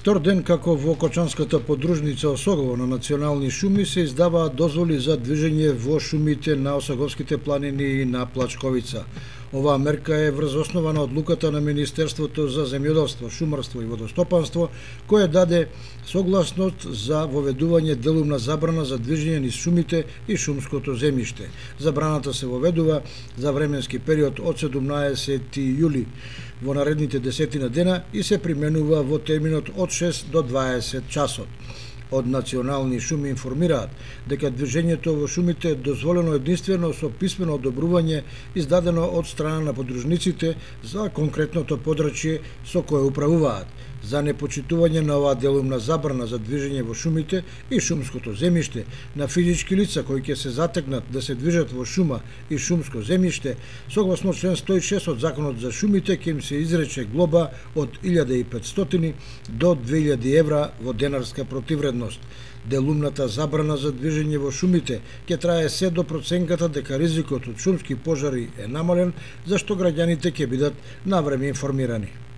Втор ден како во Кочанската подружница Осогово на национални шуми се издаваат дозволи за движење во шумите на Осоговските планини и на Плачковица. Оваа мерка е врз основа на одлуката на Министерството за земјоделство, шумарство и водостопанство, кое даде согласност за воведување делумна забрана за движење низ шумите и шумското земјиште. Забраната се воведува за временски период од 17 јули во наредните 10 дена и се применува во терминот од 6 до 20 часот. Од национални шуми информираат дека движењето во шумите е дозволено единствено со писмено одобрување издадено од страна на подружниците за конкретното подрачје со кое управуваат. За непочитување на оваа делумна забрана за движење во шумите и шумското земјиште на физички лица кои ќе се затекнат да се движат во шума и шумско земјиште, согласно член 106 од Законот за шумите, ќе им се изрече глоба од 1500 до 2000 евра во денарска противредност. Делумната забрана за движење во шумите ќе трае се до проценката дека ризикот од шумски пожари е намален, зашто граѓаните ќе бидат навреме информирани.